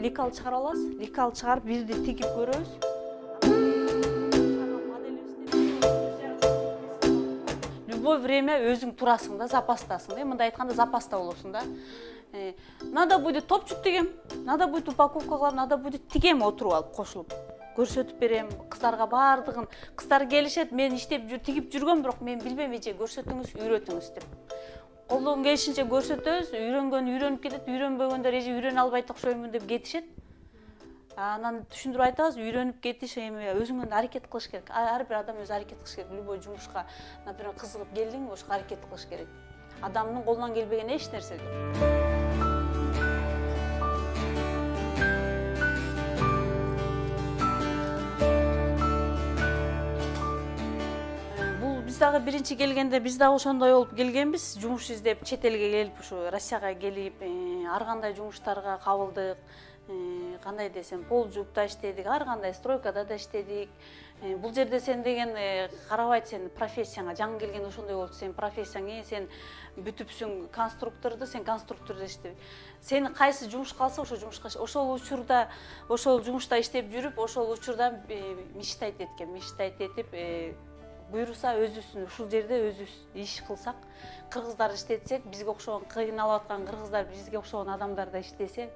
лекал чыгара аласыз. Лекал чыгарып бирди тигип көрөбүз. Любое время өзүң турасың да, запастасың. Мындай айтканда запаста болосуң да. Надо будет топчук тигем, надо будет упаковка кылам, надо будет тигем отуруп алып кошулуп. Көрсөтүп берем кыздарга баардыгын. Кыздар келишет, мен иштеп тигип жүргөм, бирок мен билбейм, эже көрсөтүңүз, үйрөтүңүз деп. Колдон келишинче көрсөтөбүз, үйрөнүп кетет, үйрөнбөгөндөр эже үйрөнө албайт окшоймун деп кетишет. Анан түшүндүрүп айтабыз, үйрөнүп кетиш эми өзүңөн аракет кылыш керек. Ар бир адам өзү аракет кылыш керек. Любой жумушка, например, кызыгып келдиң, ошого аракет кылыш керек. Адамдын колунан келбеген эч нерсе жок. Биз дагы биринчи келгенде биз дагы ошондой болуп келгенбиз. Жумуш издеп чет элге келип, ушу Россияга келип, ар кандай жумуштарга кабылдык. Кандай десем, полжупта иштедик, ар кандай стройкада да иштедик. Бул жерде сен деген карабайт сен профессияңа, жаңы келген ошондой болчу. Сен профессияң, сен бүтүпсүң конструкторду, сен конструктордо иштеп. Сен кайсы жумуш калса ошол жумушка, ошол учурда, ошол жумушта иштеп жүрүп, ошол учурда мечтать этип, буйруса өзүбүздүн ушул жерде өзүбүз иш кылсак, кыргыздар иштетсек, бизге окшогон кыйналып аткан кыргыздар, бизге окшогон адамдар да иштесе,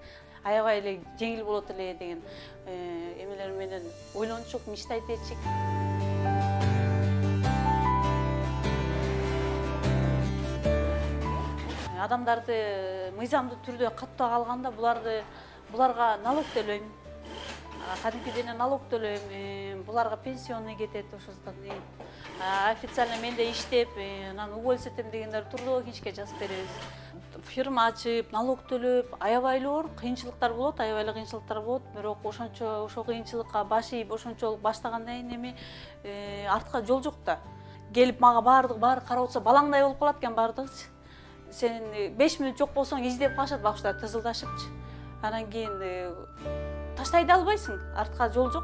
аябай эле жеңил болот эле деген эмелер менен ойлончук, мечтать этчик. Адамдарды мыйзамдуу түрдө каттап алганда буларга налог төлөйм. Кадимкиден налог төлөйм, буларга пенсионный кетет ошондон. Официально менде иштеп, анан уволиться этем дегендер турдуу кишке жазып беребиз. Фирма ачып, налог төлөп, аябай оор кыйынчылыктар болот, бирок ошол кыйынчылыкка баш ийип, ошончолук баштагандан кийин артка жол жок да. Келип мага баары карап отса, балаңдай болуп калат экен баардыгычы. Сен 5 мүнөт жок болсоң издеп калышат бакчылар тызылдашыпчы. Анан кийин таштай да албайсың, артка жол жок.